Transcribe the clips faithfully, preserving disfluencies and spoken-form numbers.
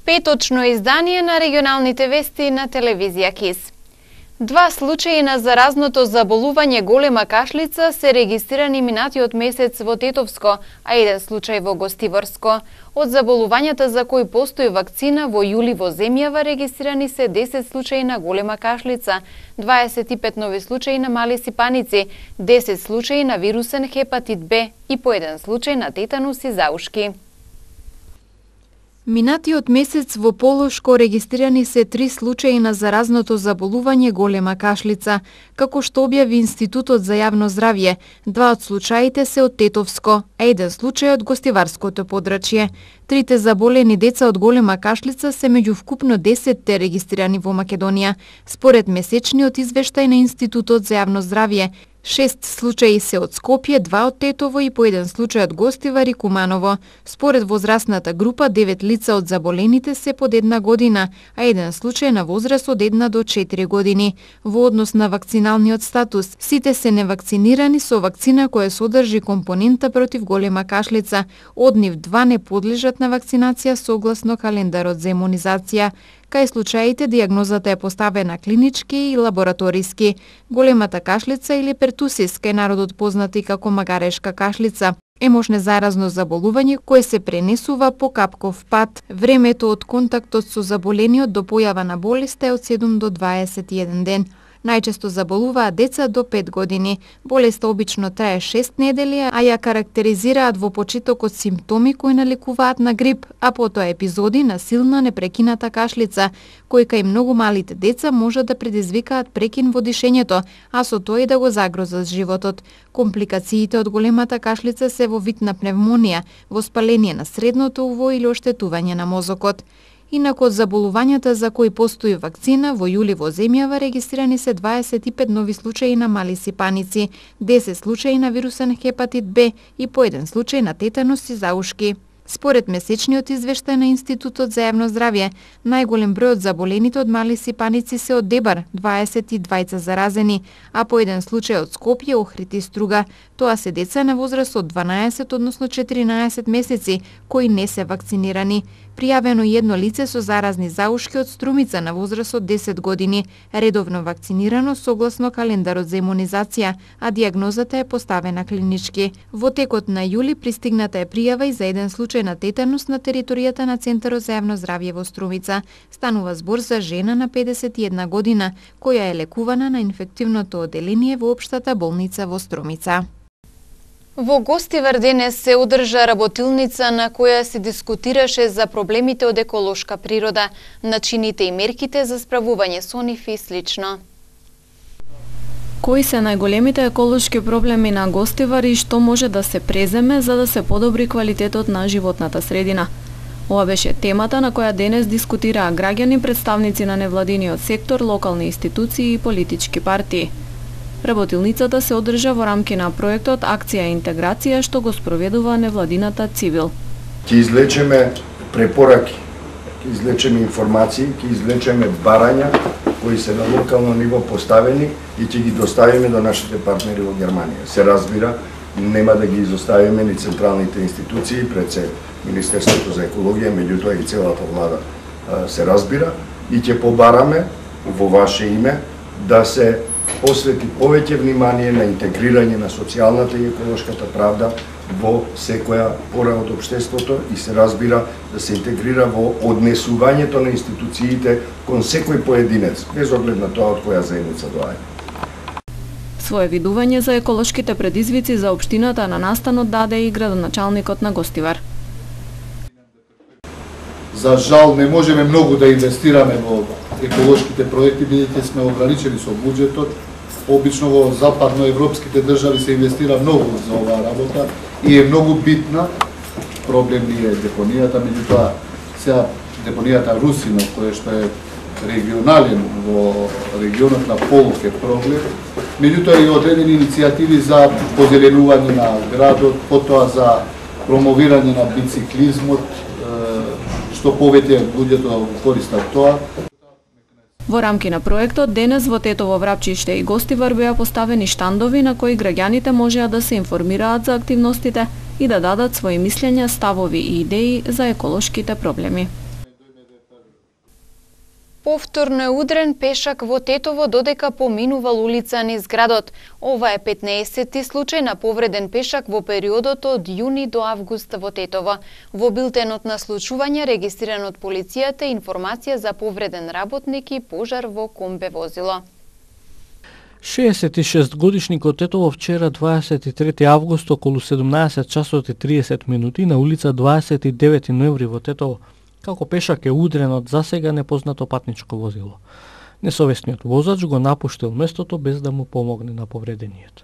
Петочно издание на регионалните вести на телевизија КИС. Два случаи на заразното заболување голема кашлица се регистрирани минатиот месец во Тетовско, а еден случај во Гостиворско. Од заболувањата за кои постои вакцина во јули во земјава регистрирани се десет случаи на голема кашлица, дваесет и пет нови случаи на мали сипаници, десет случаи на вирусен хепатит Б и по еден случај на тетанус и заушки. Минатиот месец во Полошко регистрирани се три случаи на заразното заболување голема кашлица. Како што објави Институтот за јавно здравје, два од случаите се од Тетовско, а еден случај од Гостиварското подрачје. Трите заболени деца од голема кашлица се меѓу вкупно десетте регистрирани во Македонија. Според месечниот извештај на Институтот за јавно здравје, шест случаи се од Скопје, два од Тетово и по еден случај од Гостивар и Куманово. Според возрастната група, девет лица од заболените се под една година, а еден случај на возраст од една до четири години. Во однос на вакциналниот статус, сите се невакцинирани со вакцина која содржи компонента против голема кашлица. Од нив два не подлежат на вакцинација согласно календарот за имунизација. Кај случаите дијагнозата е поставена клинички и лабораториски. Големата кашлица или пертусис, кај народот познати како магарешка кашлица, е можно заразно заболување кое се пренесува по капков пат. Времето од контактот со заболениот до појава на болеста е од седум до дваесет и еден ден. Најчесто заболуваат деца до пет години. Болеста обично трае шест недели, а ја карактеризираат во почетокот симптоми кои наликуваат на грип, а потоа епизоди на силна непрекината кашлица, кои кај многу малите деца можат да предизвикаат прекин во дишењето, а со тоа и да го загрозат животот. Компликациите од големата кашлица се во вид на пневмонија, воспаление на средното уво или оштетување на мозокот. Инаку од заболувањата за кои постои вакцина, во јули во земјава регистрирани се дваесет и пет нови случаи на мали сипаници, десет случаи на вирусен хепатит Б и по еден случај на тетанус и заушки. Според месечниот извештај на Институтот за јавно здравје, најголем број од заболените од мали сипаници се од Дебар, дваесет и двајца заразени, а по еден случај од Скопје, Охрид и Струга. Тоа се деца на возраст од дванаесет, односно четиринаесет месеци, кои не се вакцинирани. Пријавено едно лице со заразни заушки од Струмица на возраст од десет години, редовно вакцинирано согласно календарот за имунизација, а дијагнозата е поставена клинички. Во текот на јули пристигната е пријава и за еден случај на тетанус на територијата на Центарот за јавно здравје во Струмица. Станува збор за жена на педесет и една година, која е лекувана на инфективното оделение во општата болница во Струмица. Во Гостивар денес се одржа работилница на која се дискутираше за проблемите од еколошка природа, начините и мерките за справување со нив и слично. Кои се најголемите еколошки проблеми на Гостивар и што може да се преземе за да се подобри квалитетот на животната средина? Ова беше темата на која денес дискутираа граѓани, представници на невладиниот сектор, локални институции и политички партии. Работилницата се одржа во рамки на проектот Акција и интеграција што го спроведува невладината Цивил. Ќе излечеме препораки, ќе излечеме информации, ќе излечеме барања кои се на локално ниво поставени и ќе ги доставиме до нашите партнери во Германија. Се разбира, нема да ги изоставиме ни централните институции, пред се Министерството за екологија, меѓутоа и целата влада се разбира, и ќе побараме во ваше име да се посвети повеќе внимание на интегрирање на социјалната и еколошката правда во секоја пора од општеството и се разбира да се интегрира во однесувањето на институциите кон секој поединец, без оглед на тоа од која заедница доаѓа. Своје видување за еколошките предизвици за општината на настанот даде и градоначалникот на Гостивар. За жал не можеме многу да инвестираме во еколошките проекти, бидејќи сме ограничени со буџетот. Обично во западноевропските држави се инвестира многу за оваа работа и е многу битна. Проблем ни е депонијата, меѓутоа сега депонијата Русино, кој што е регионален во регионот на Полок е проблем. Меѓутоа и одредени иницијативи за позеленување на градот, потоа за промовирање на бициклизмот, што повеќе луѓето користат тоа. Во рамки на проектот, денес во Тетово, Врапчиште и Гостивар беа поставени штандови на кои граѓаните можеа да се информираат за активностите и да дадат своји мислења, ставови и идеи за еколошките проблеми. Повторно е удрен пешак во Тетово додека поминувал улица низ градот. Ова е петнаесетти случај на повреден пешак во периодот од јуни до август во Тетово. Во билтенот на случување регистриран од полицијата информација за повреден работник и пожар во комбе возило. шеесет и шест годишникот Тетово вчера дваесет и трети август околу седумнаесет часот и триесет минути на улица дваесет и девети ноември во Тетово како пешак е удрен од засега непознато патничко возило. Несовесниот возач го напуштил местото без да му помогне на повредениот.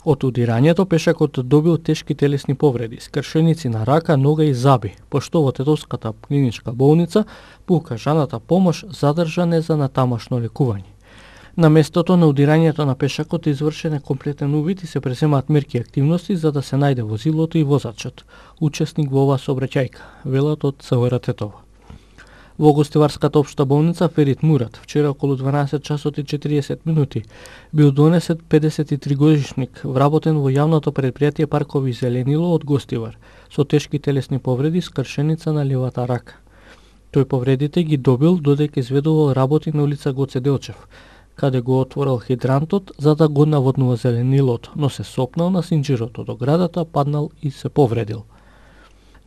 Од удирањето пешакот добил тешки телесни повреди, скршеници на рака, нога и заби, пошто во Тетовската клиничка болница по укажаната помош задржан е за натамошно лекување. На местото на удирањето на пешакот извршен е комплетен увид и се преземаат мерки и активности за да се најде возилото и возачот, учесник во оваа сообраќајка, велат од ЦВР Тетово. Во гостиварската општа болница Ферит Мурат вчера околу дванаесет часот и четириесет минути бил донесет педесет и три годишник вработен во јавното предпријатие Паркови Зеленило од Гостивар со тешки телесни повреди, скршеница на левата рака. Тој повредите ги добил додека изведувал работи на улица Гоце Делчев, каде го отворил хидрантот за да го наводнува зеленилото, но се сопнал на синџирото до градата, паднал и се повредил.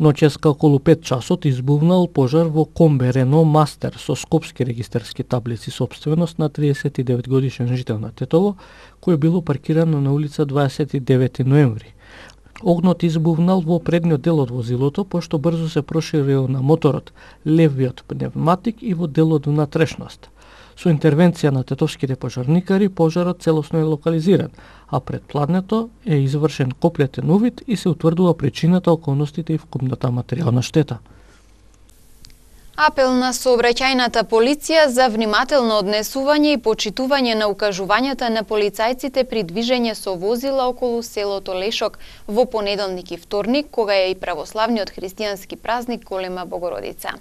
Ноќеска околу пет часот избувнал пожар во комбе Рено Мастер со скопски регистарски таблици собственост на триесет и девет годишен жител на Тетово, кој било паркирано на улица дваесет и девети ноември. Огнот избувнал во предниот дел од возилото, пошто брзо се проширил на моторот, левиот пневматик и во делот внатрешност. Со интервенција на тетовските пожарникари, пожарот целосно е локализиран, а пред пладнето е извршен комплетен увид и се утврдува причината, околностите и вкупната материјална штета. Апел на сообраќајната полиција за внимателно однесување и почитување на укажувањата на полицајците при движење со возила околу селото Лешок во понеделник и вторник, кога е и православниот христијански празник Голема Богородица.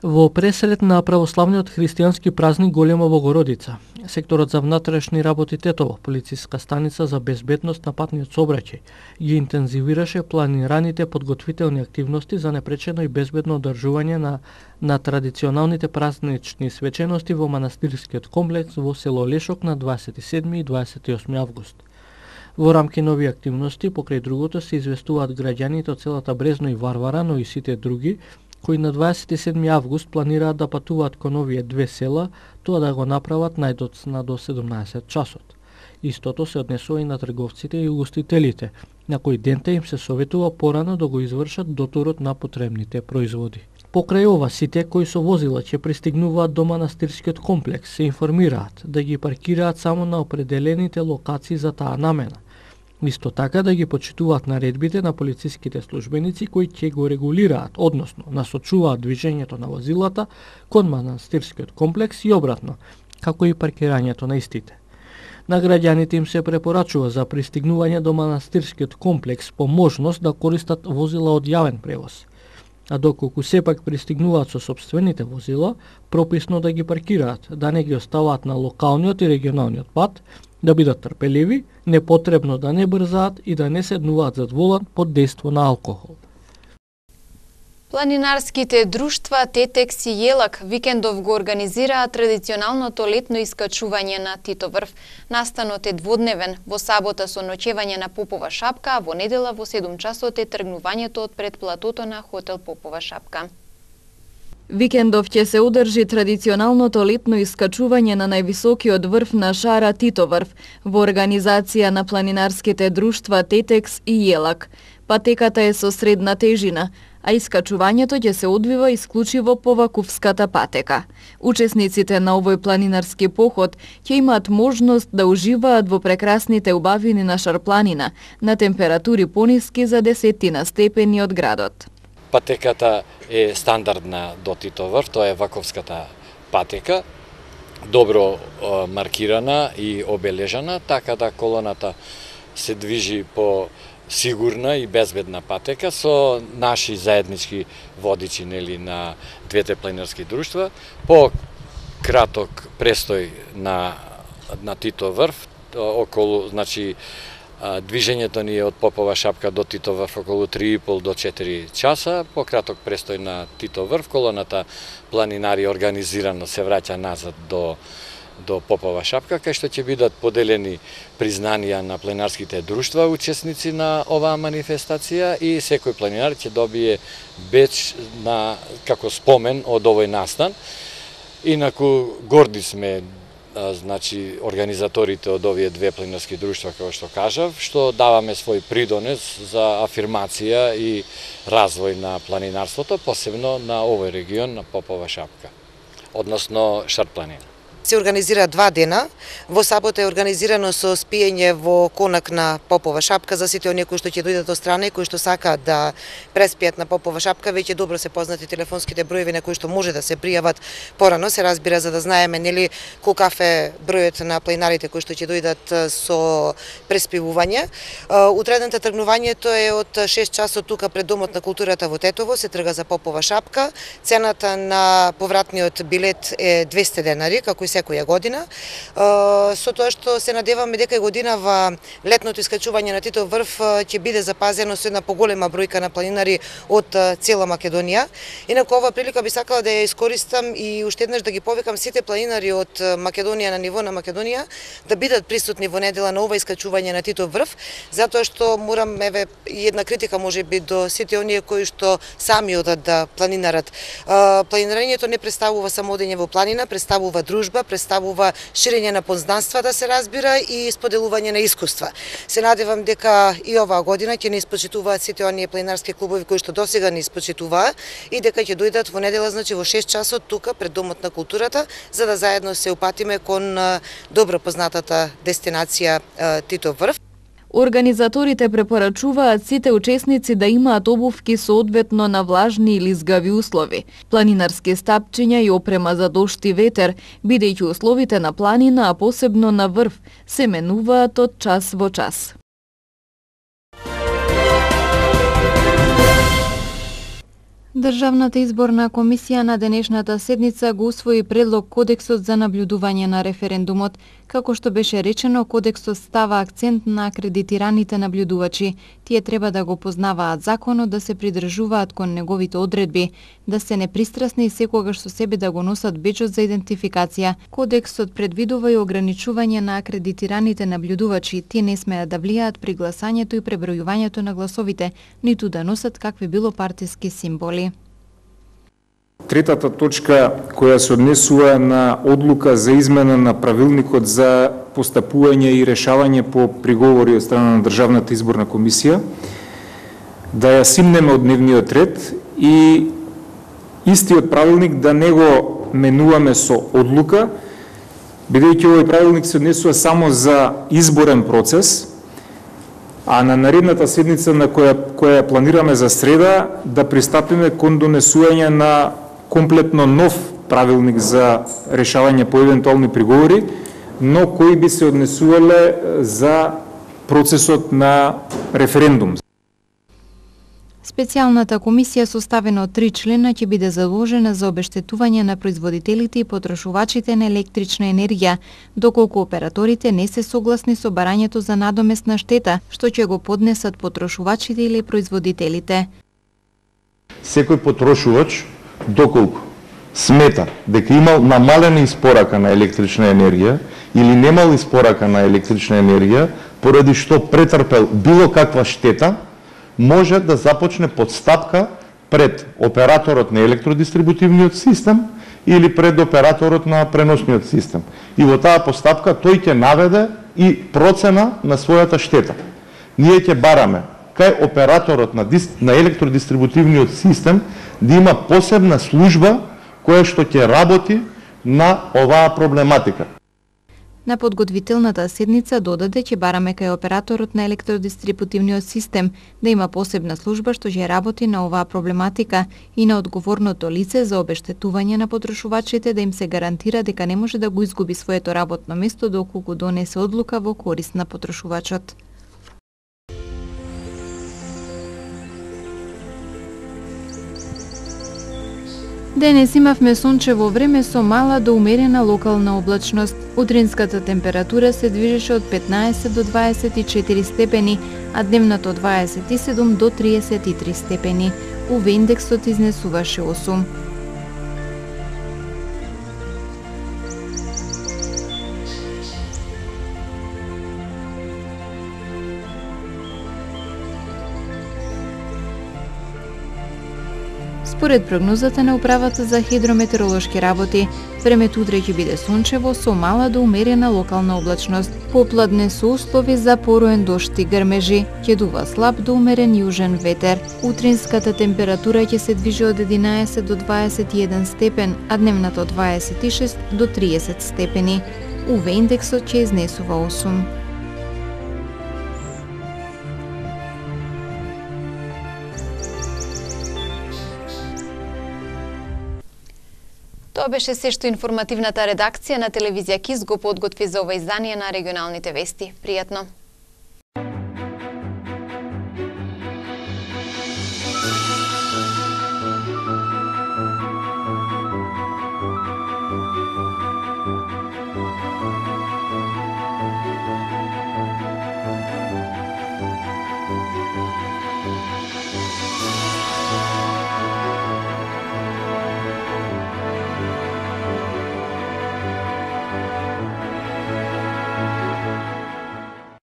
Во пресред на православниот христијански празник Голема Богородица, секторот за внатрешни работи Тетово, полициска станица за безбедност на патниот сообраќај, ги интензивираше планираните подготвителни активности за непречено и безбедно одржување на, на традиционалните празнични свечености во манастирскиот комплекс во село Лешок на дваесет и седми и дваесет и осми август. Во рамки на овие активности, покрај другото, се известуваат граѓаните од селата Брезно и Варвара, но и сите други, кои на дваесет и седми август планираат да патуваат кон овие две села, тоа да го направат најдоцна до седумнаесет часот. Истото се однесува и на трговците и угостителите, на кои денте им се советува порано да го извршат доторот на потребните производи. Покрај ова, сите кои со возила ќе пристигнуваат до манастирскиот комплекс се информираат да ги паркираат само на определените локации за таа намена. Исто така да ги почитуваат наредбите на полициските службеници кои ќе го регулираат, односно насочуваат движењето на возилата кон манастирскиот комплекс и обратно, како и паркирањето на истите. На граѓаните им се препорачува за пристигнување до манастирскиот комплекс по можност да користат возила од јавен превоз. А доколку сепак пристигнуваат со собствените возила, прописно да ги паркираат, да не ги оставаат на локалниот и регионалниот пат, да бидат трпеливи, непотребно да не брзаат и да не седнуваат зад волан под дејство на алкохол. Планинарските друштва Тетекс и Јелак викендов го организираат традиционалното летно искачување на Титоврв. Настанот е дводневен, во сабота со ноќевање на Попова шапка, а во недела во седум часот е тргнувањето од пред платото на хотел Попова шапка. Викендов ќе се одржи традиционалното летно искачување на највисокиот врв на шара Титоврв во организација на планинарските друштва Тетекс и Јелак. Патеката е со средна тежина, а искачувањето ќе се одвива исклучиво по Вакувската патека. Учесниците на овој планинарски поход ќе имаат можност да уживаат во прекрасните убавини на Шарпланина на температури пониски за десетина степени од градот. Патеката е стандардна до Титоврв, тоа е Ваковската патека, добро е, маркирана и обележана, така да колоната се движи по сигурна и безбедна патека со наши заеднички водичи нели на двете планинарски друштва, по краток престој на на Титоврв, околу значи Движењето ни е од Попова шапка до Титов врв околу три и пол до четири часа, по краток престој на Титов врв, колоната планинари организирано се враќа назад до до Попова шапка, кај што ќе бидат поделени признанија на планинарските друштва учесници на оваа манифестација и секој планинар ќе добие беч на како спомен од овој настан. Инаку горди сме, значи, организаторите од овие две планинарски друштва, како што кажав, што даваме свој придонес за афирмација и развој на планинарството, посебно на овој регион, на Попова шапка, односно Шарт планина. Се организира два дена. Во сабота е организирано со спиење во конак на Попова шапка за сите оние кои што ќе дојдат од страна и кои што сакаат да преспијат на Попова шапка. Веќе добро се познати телефонските броеви на кои што може да се пријават порано, се разбира, за да знаеме нели колкав е бројот на планинарите кои што ќе дојдат со преспивување. Утредната тргнувањето е од шест часот тука пред Домот на културата во Тетово, се трга за Попова шапка. Цената на повратниот билет е двесте денари, како и секоја година. Со тоа што се надеваме дека и годинава летното искачување на Титов врв ќе биде запазено со една поголема бројка на планинари од цела Македонија. Инаку ова прилика би сакала да ја искористам и уште еднаш да ги повикам сите планинари од Македонија на ниво на Македонија да бидат присутни во недела на ова искачување на Титов врв, затоа што морам, еве, една критика можеби до сите оние кои што сами одат да планинарат. Планирањето не представува само одење во планина, представува дружба, представува ширење на познанства, да се разбира, и споделување на искуства. Се надевам дека и оваа година ќе не испочитуваат сите оние планинарски клубови кои што досега не испочитуваа и дека ќе дојдат во недела, значи во шест часот тука пред Домот на културата, за да заедно се упатиме кон добро познатата дестинација Титов врв. Организаторите препорачуваат сите учесници да имаат обувки соодветно на влажни или згави услови, планинарски стапчиња и опрема за дожд и ветер, бидејќи условите на планина, а посебно на врв, се менуваат од час во час. Државната изборна комисија на денешната седница го усвои предлог Кодексот за наблюдување на референдумот. Како што беше речено, Кодексот става акцент на акредитираните наблюдувачи. Тие треба да го познаваат законот, да се придржуваат кон неговите одредби, да се непристрасни и секогаш со себе да го носат беџот за идентификација. Кодексот предвидува и ограничување на акредитираните наблюдувачи. Тие не смеат да влијаат при гласањето и пребројувањето на гласовите, ниту да носат какви било партиски символи. Третата точка која се однесува на одлука за измена на правилникот за постапување и решавање по приговори од страна на Државната изборна комисија, да ја симнеме од дневниот ред и истиот правилник да не го менуваме со одлука, бидејќи овој правилник се однесува само за изборен процес, а на наредната седница на која која планираме за среда да пристапиме кон донесување на комплетно нов правилник за решавање по евентуални приговори, но кои би се однесувале за процесот на референдум. Специјалната комисија составена од три члена ќе биде заложена за обештетување на производителите и потрошувачите на електрична енергија, доколку операторите не се согласни со барањето за надоместна штета, што ќе го поднесат потрошувачите или производителите. Секој потрошувач, доколку смета дека имал намалена испорака на електрична енергија или немал испорака на електрична енергија, поради што претрпел било каква штета, може да започне подстапка пред операторот на електродистрибутивниот систем или пред операторот на преносниот систем. И во таа постапка тој ќе наведе и процена на својата штета. Ние ќе бараме кај операторот на, дис... на електродистрибутивниот систем да има посебна служба која што ќе работи на оваа проблематика. На подготвителната седница додаде ќе бараме кај операторот на електродистрибутивниот систем да има посебна служба што ќе работи на оваа проблематика и на одговорното лице за обештетување на потрошувачите да им се гарантира дека не може да го изгуби своето работно место доколку донесе одлука во корист на потрошувачот. Денес имавме сончево време со мала до умерена локална облачност. Утринската температура се движеше од петнаесет до дваесет и четири степени, а дневната од дваесет и седум до триесет и три степени. У ве индексот изнесуваше осум. Според прогнозата на управата за хидрометеоролошки работи, времето утре ќе биде сончево со мала до умерена локална облачност. Попладне со услови за пороен дожд и грмежи, ќе дува слаб до умерен јужен ветер. Утринската температура ќе се движи од единаесет до дваесет и еден степен, а дневната од дваесет и шест до триесет степени. У ве индексот ќе изнесува осум. Тоа беше се што информативната редакција на телевизија КИС го подготви за ова издание на регионалните вести. Пријатно!